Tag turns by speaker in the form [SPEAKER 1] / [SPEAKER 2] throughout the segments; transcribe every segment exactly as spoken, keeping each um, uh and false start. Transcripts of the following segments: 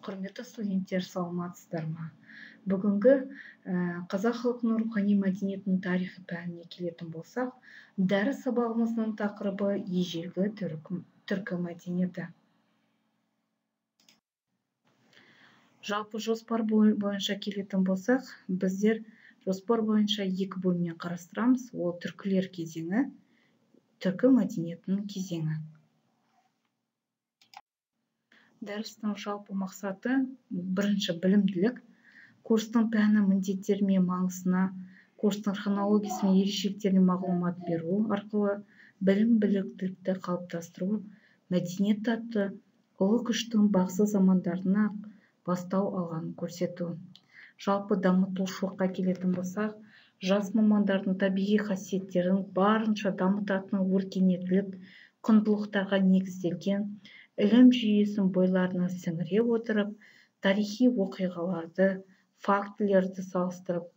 [SPEAKER 1] Құрметті студенттер, саламатсыздар ма? Бүгінгі қазақ халқының рухани мәдениетінің тарихы пәніне келетін болсақ, дәріс сабағымыздың тақырыбы ежелгі түркі мәдениеті. Жалпы жоспар бойынша келетін болсақ, біздер жоспар бойынша екі бөлімнен қарастырамыз. Ол түркілер кезеңі, түркі мәдениетінің кезеңі. Дәрістің жалпы мақсаты бірінші білімділік, курстың пәні міндеттері мен маңызына, курстың хронологиясы мен ерекшеліктеріне мағлұмат беру арқылы білім біліктілікті қалыптастыру, мәдениет атты ұлы күштің бағзы замандарына бастау алғанын көрсету. Жалпы дамытушылыққа келетін болсақ, жас мамандардың табиғи қасиеттерін барынша дамытатын өркениеттілік құндылықтарға негізделген ілім жүйесін бойларына сіңіре отырып, тарихи оқиғаларды, фактілерді салыстырып,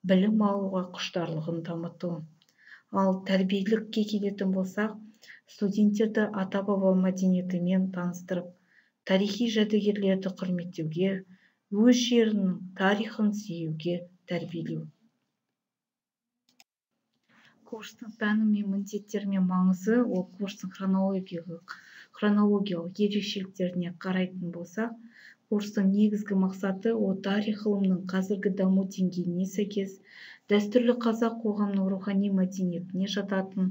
[SPEAKER 1] білім алуға құштарлығын дамыту. Ал тәрбиелікке келетін болсақ, студенттерді ата-баба мәдениетімен таныстырып, тарихи жәдігерлерді құрметтеуге, өз жерінің тарихын сүюге тәрбиелеу. Курстың пәні мен міндеттері мен маңызы, ол курстың хронологиялық хронологиялық ерекшеліктеріне қарайтын болсақ, курстың негізгі мақсаты ол тарих ғылымының қазіргі даму деңгейіне сәйкес дәстүрлі қазақ қоғамының рухани мәдениетіне жататын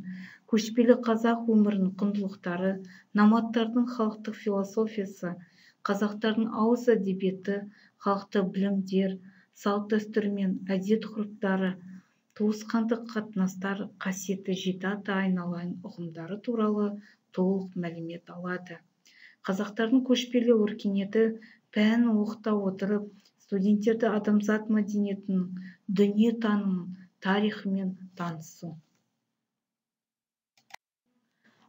[SPEAKER 1] көшпелі қазақ өмірінің құндылықтары, номадтардың халықтық философиясы, қазақтардың ауыз әдебиеті, халықтық білімдер, салт дәстүр мен әдет-ғұрыптары, туысқандық қатынастар, қасиетті жеті ата айналайын ұғымдары туралы толық мәлімет алады. Қазақтардың көшпелі өркениеті пәнін оқыта отырып, студенттерді адамзат мәдениетінің дүние танымын, тарихымен танысу.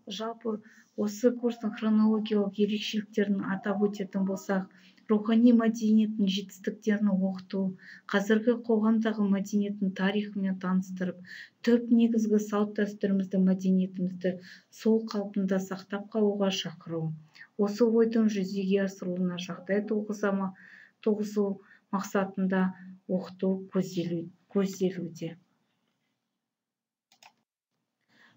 [SPEAKER 1] Жалпы осы курстың хронологиялық ерекшеліктерін атап өтетін болсақ, рухани мәдениеттің жетістіктерін оқыту, қазіргі қоғамдағы мәдениеттің тарихымен таныстырып, түп негізгі салт дәстүрімізді, мәдениетімізді сол қалпында сақтап қалуға шақыру. Осы ойдың жүзеге асыруына жағдай туғызу мақсатында оқыту көзделуде.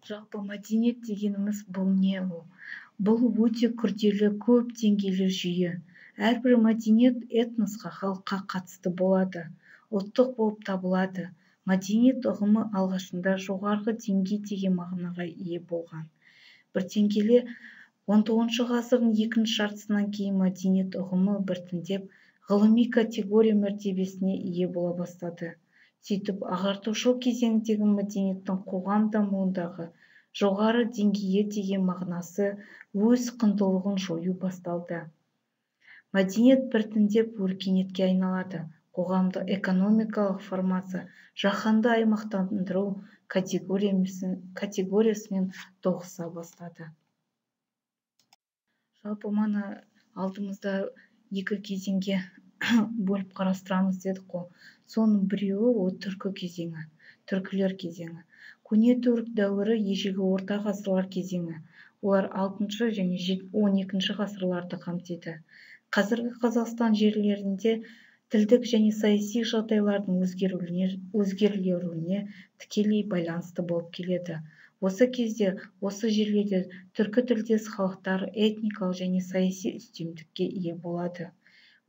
[SPEAKER 1] Жалпы мәдениет дегеніміз бұл не ол? Бұл өте күрделі, көп деңгейлі жүйе. Әрбір мәдениет этносқа, халыққа қатысты болады, ұлттық болып табылады. Мәдениет ұғымы алғашында жоғарғы деңгей деген мағынаға ие болған. Бірден келе он тоғызыншы ғасырдың екінші жартысынан кейін мәдениет ұғымы біртіндеп ғылыми категория мәртебесіне ие бола бастады. Сөйтіп, ағартушылық кезеңдегі мәдениеттің қоғам дамуындағы жоғары деңгейі деген мағынасы өз құндылығын жою басталды. Мәдениет біртіндеп өркениетке айналады. Қоғамды экономикалық формация, жаһанды аймақтандыру категориясымен тоғыса бастады. Жалпы мана алдымызда екі кезеңге бөліп қарастырамыз дедік қой. Соның біреуі ол түркі кезеңі, түркілер кезеңі. Көне түрік дәуірі ежелгі орта ғасырлар кезеңі. Олар алтыншы және он екінші ғасырларды қамтиды. Қазіргі Қазақстан жерлерінде тілдік және саяси жағдайлардың өзгерулеріне тікелей байланысты болып келеді. Осы кезде, осы жерлерде түркі тілдес халықтар этникалық және саяси үстемдікке ие болады.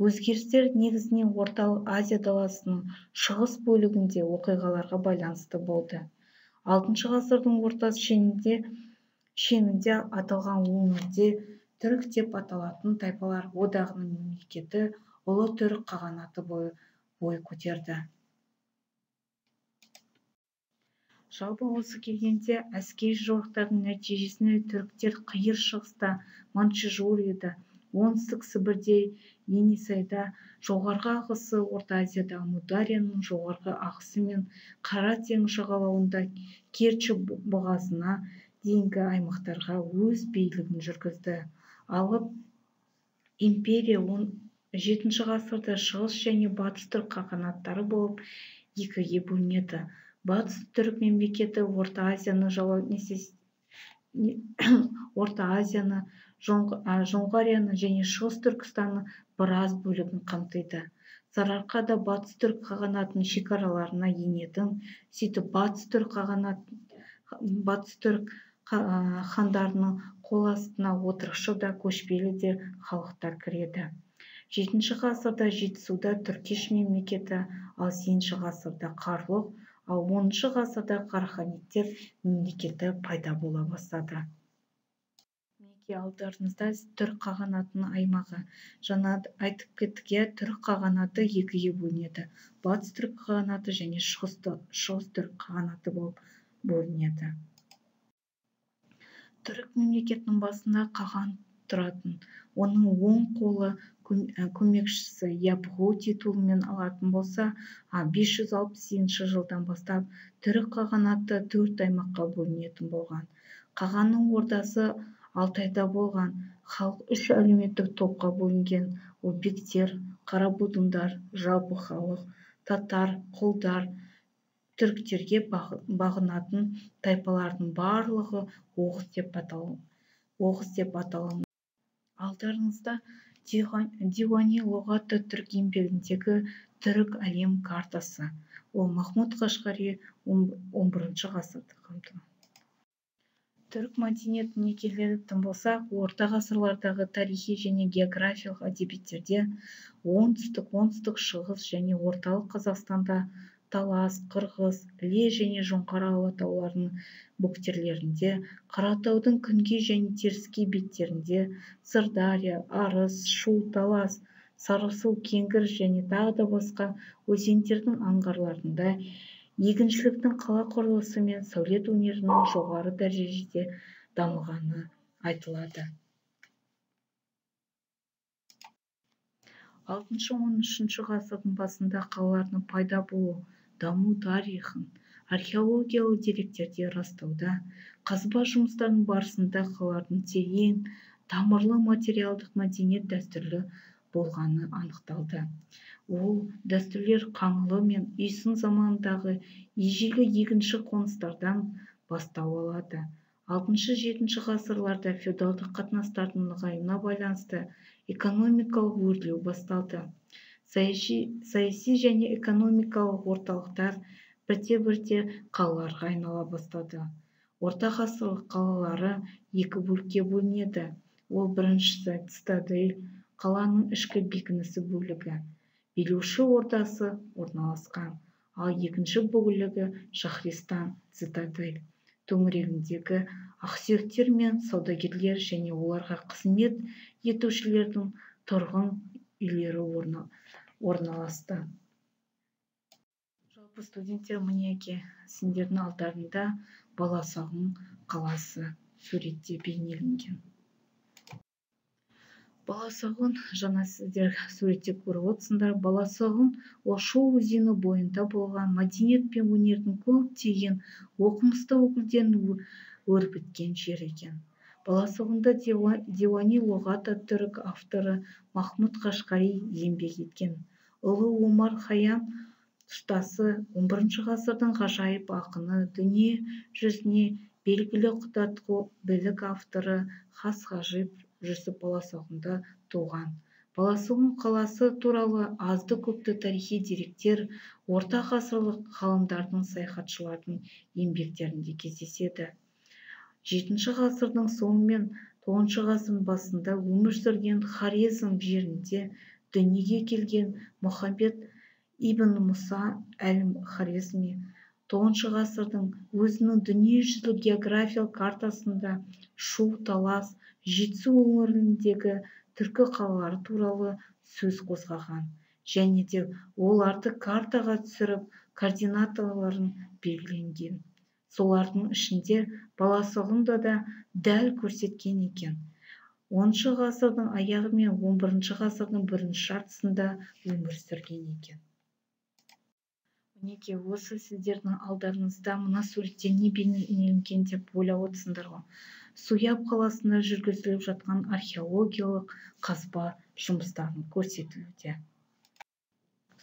[SPEAKER 1] Өзгерістер негізінен орталық Азия даласының шығыс бөлігінде оқиғаларға байланысты болды. алтыншы ғасырдың орта шенінде аталған өңірде түрік деп аталатын тайпалар одағының мемлекеті ұлы түрік қағанаты бой көтерді. Жалпы осы келгенде әскери жорықтардың нәтижесінде түріктер қиыр шығыста, Манчжурияда, оңтүстік Сібірде, Енисейда, жоғарғы ағысы Орта Азияда Амударияның жоғарғы ағысы мен Қара теңіз жағалауында Керчь бұғазына дейінгі аймақтарға өз билігін жүргізді. Алып империя он жетінші ғасырда шығыс және батыс түрік қағанаттары болып екіге бөлінеді. Батыс түрік мемлекеті Орта Азияны жаулап Орта Азияны Жоңғарияны және Шығыс Түркістанның біраз бөлігін қамтиды. Сарыарқа да Батыс түрік қағанатының шекараларына енетін, сөйтіп Батыс түрік қағанат Батыс түрік хандарының қол астына отырықшы да көшпелі де халықтар кіреді. жетінші ғасырда Жетісуда түркеш мемлекеті, ал сегізінші ғасырда Қарлұқ, ал оныншы ғасырда Қараханиттер мемлекеті пайда бола бастады. Мінекей алдарыңызда түрік қағанатының аймағы. Жаңа айтып кеттік, түрік қағанаты екіге бөлінеді. Батыс түрік қағанаты және шығыс түрік қағанаты болып бөлінеді. Түрік мемлекетінің басында қаған тұратын. Оның оң қолы көмекшісі Япғу титулымен алатын болса, бес жүз алпыс сегізінші жылдан бастап түрік қағанаты төрт аймаққа бөлінетін болған. Қағанның ордасы Алтайда болған. Халық үш әлеуметтік топқа бөлінген. Ол бектер, қарабудындар, жалпы халық, татар, құлдар, түріктерге бағынатын тайпалардың барлығы оғыз деп аталынады. Алдарыңызда Диуани лұғаты түрік еңбегіндегі түрік әлем картасы. Ол Махмуд Қашқари он бірінші ғасырды қамтыған. Түрік мәдениетіне келетін болсақ, орта ғасырлардағы тарихи және географиялық әдебиеттерде оңтүстік, оңтүстік шығыс және орталық Қазақстанда Талас, Қырғыз, Іле және Жоңғар алатауларының бөктерлерінде, Қаратаудың күнгей және теріскей беттерінде, Сырдария, Арыс, Шу, Талас, Сарысу, Кеңгір және тағы да басқа өзендердің аңғарларында егіншіліктің, қала құрылысы мен сәулет өнерінің жоғары дәрежеде дамығаны айтылады. алтыншы-он үшінші ғасырдың басында қалалардың пайда болу, даму тарихын археологиялық деректерде растауда, қазба жұмыстарының барысында қалалардың терең, тамырлы материалдық мәдениет дәстүрлі болғаны анықталды. Ол дәстүрлер Қаңлы мен Үйсін заманындағы ежелгі егінші қоныстардан бастау алады. алтыншы-жетінші ғасырларда феодалдық қатынастардың нығаюына байланысты экономикалық өрлеу басталды. Саяси және экономикалық орталықтар бірте-бірте қалаларға айнала бастады. Орта ғасырлық қалалары екі бөлікке бөлінеді. Ол біріншісі цитадель, қаланың ішкі бекінісі бөлігі, билеуші ордасы орналасқан, ал екінші бөлігі Шахристан, цитадель, төңірегіндегі ақсүйектер мен саудагерлер және оларға қызмет етушілердің тұрғын үйлері орналасты. Жалпы студенттер, мінеки сендердің алдарында Баласағұн қаласы суретте бейнеленген. Баласағұн, жаңа сіздер суретте көріп отырсыңдар. Баласағұн ол Шу өзені бойында болған, мәдениет пен өнердің көптеген оқымысты өкілдерін өрбіткен жер екен. Баласағұнда Диуани лұғаты түрік авторы Махмуд Қашқари еңбек еткен. Ұлы Омар Хайям ұстасы он бірінші ғасырдың ғажайып ақыны, дүние жүзіне белгілі құдатқу білік авторы Хас Ғажип Жүсіп Баласағұнда туған. Баласағұн қаласы туралы азды-көпті тарихи деректер орта ғасырлық ғалымдардың, саяхатшылардың еңбектерінде кездеседі. жетінші ғасырдың соңы мен тоғызыншы ғасырдың басында өмір сүрген Хорезм жерінде дүниеге келген Мұхаммед ибн Мұса әл-Хорезми тоғызыншы ғасырдың өзінің дүниежүзілік географиялық картасында Шу, Талас, Жетісу өңіріндегі түркі қалалары туралы сөз қозғаған және де оларды картаға түсіріп координаталарын белгіленген. Солардың ішінде Баласағұнда да дәл көрсеткен екен. оныншы ғасырдың аяғы мен он бірінші ғасырдың бірінші жартысында өмір сүрген екен. Мінеки осы сіздердің алдарыңызда мына суретте не бейнеленген деп ойлап отырсыңдар ғой. Суяб қаласында жүргізіліп жатқан археологиялық қазба жұмыстарын көрсетілуде.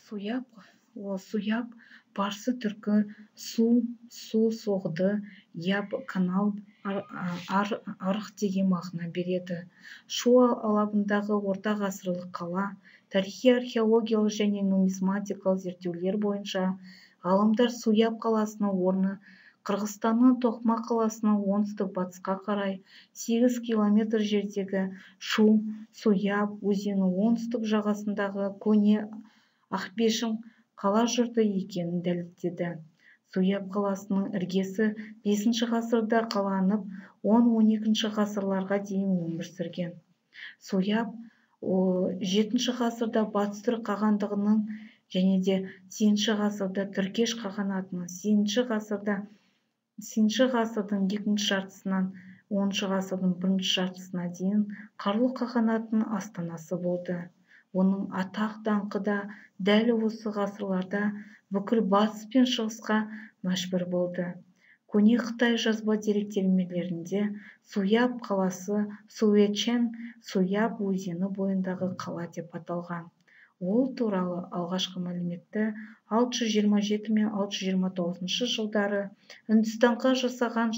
[SPEAKER 1] Суяб, ол Суяб парсы түркі су, су соғды, яб канал арық деген мағына береді. Шу алабындағы орта ғасырлық қала тарихи археологиялық және нумизматикалық зерттеулер бойынша ғалымдар Суяб қаласының орны Қырғызстанның Тоқма қаласының оңтүстік батысқа қарай сегіз километр жердегі Шу Суяб өзенінің оңтүстік жағасындағы көне Ақбешім қала жұрты екенін дәлелдеді. Суяб қаласының іргесі бесінші ғасырда қаланып, он-он екінші ғасырларға дейін өмір сүрген. Суяб жетінші ғасырда Батыс түрік қағандығының және де сегізінші ғасырда Түркеш қағанатының, сегізінші ғасырда сегізінші ғасырдың екінші жартысынан оныншы ғасырдың бірінші жартысына дейін Қарлұқ қағанатының астанасы болды. Оның атақ-даңқы да дәл осы ғасырларда бүкіл батыс пен шығысқа мәшһүр болды. Көне Қытай жазба деректермелерінде Суяб қаласы Суэчэн Суяб өзені бойындағы қала деп аталған. Ол туралы алғашқы мәліметті алты жүз жиырма жеті мен алты жүз жиырма тоғызыншы жылдары Үндістанға жасаған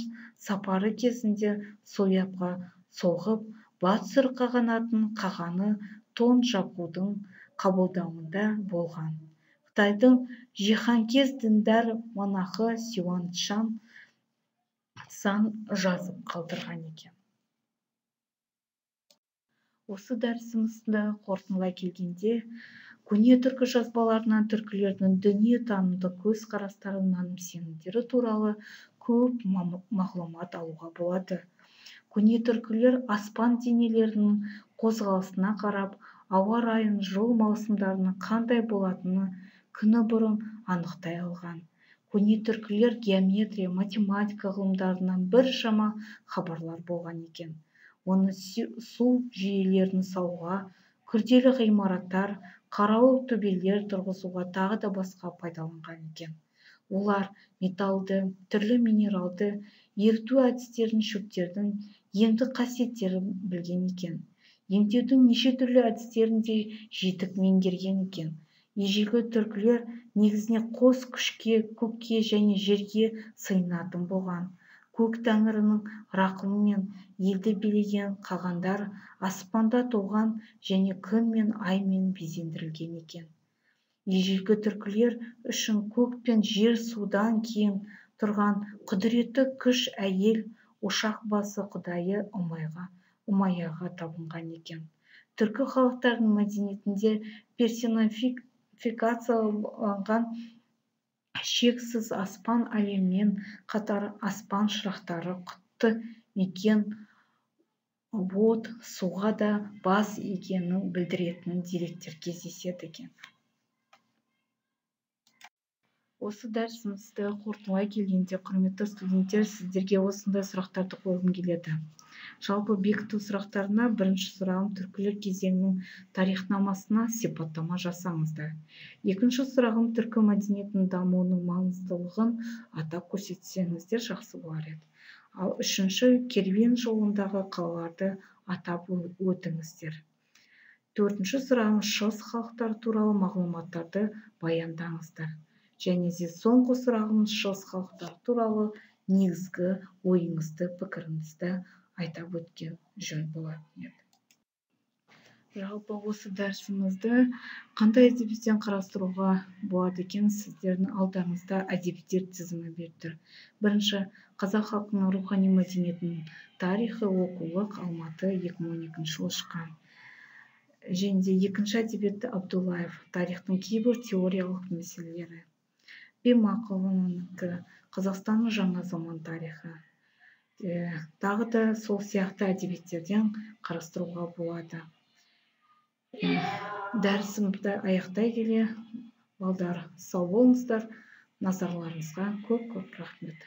[SPEAKER 1] сапары кезінде Суябға соғып, Батыс түрік қағанатының қағаны Тон Жабғудың қабылдауында болған. Қытайдың жиһанкез діндар монахы Сюань Цзан жазып қалдырған екен. Осы дәрісімізді қорытындылай келгенде, көне түркі жазбаларынан түркілердің дүниетанымдық көзқарастары, наным-сенімдері туралы көп мағлұмат алуға болады. Көне түркілер аспан денелерінің қозғалысына қарап, ауа райын, жыл маусымдарының қандай болатыны күні бұрын анықтай алған. Көне түркілер геометрия, математика ғылымдарынан біршама хабарлар болған екен. Оны су жүйелерін салуға, күрделі ғимараттар, қарауыл төбелер тұрғызуға тағы да басқа пайдаланған екен. Олар металлды, түрлі минералды, еріту әдістерін, шөптердің емдік қасиеттерін білген екен. Емдеудің неше түрлі әдістерін де жетік меңгерген екен. Ежелгі түркілер негізіне қос күшке, көкке және жерге сыйынатын болған. Көк тәңірінің рақымымен елді билеген қағандар аспанда туған және күн мен аймен безендірілген екен. Ежелгі түркілер үшін көк пен жер судан кейін тұрған құдіретті күш әйел, ошақ басы құдайы Умайяға табынған екен. Түркі халықтарының мәдениетінде персонификацияланған шексіз аспан әлеммен қатар аспан шырақтары, құтты мекен, от, суға да бас игенін білдіретін деректер кездеседі екен. Осы дәрісімізді қорытындылай келгенде, құрметті студенттер, сіздерге осындай сұрақтарды қойғым келеді. Жалпы бекіту сұрақтарына бірінші сұрағым түркілер кезеңінің тарихнамасына сипаттама жасаңыздар. Екінші сұрағым түркі мәдениетінің дамуының маңыздылығын атап көрсетсеңіздер жақсы болар еді. Ал үшінші, керуен жолындағы қалаларды атап өтіңіздер. Төртінші сұрағым шығыс халықтары туралы мағлұматтарды баяндаңыздар. Және де соңғы сұрағымыз шығыс халықтары туралы негізгі ойыңызды, пікіріңізді айтап өткен жөн болатын еді. Жалпы осы дәрісімізді қандай әдебиеттен қарастыруға болады екен, сіздердің алдарыңызда әдебиеттер тізімі беріп тұр. Бірінші, қазақ халқының рухани мәдениетінің тарихы, оқулық, Алматы, екі мың он екінші жылы шыққан. Және де екінші әдебиетті Абдуллаев, тарихтың кейбір теориялық мәселелері. Бимақұлының Қазақстанның жаңа заман тарихы. Тағы да сол сияқты әдебиеттерден қарастыруға болады. Дәрісімді аяқтай келе, балдар, сау болыңыздар, назарларыңызға көп-көп рахмет.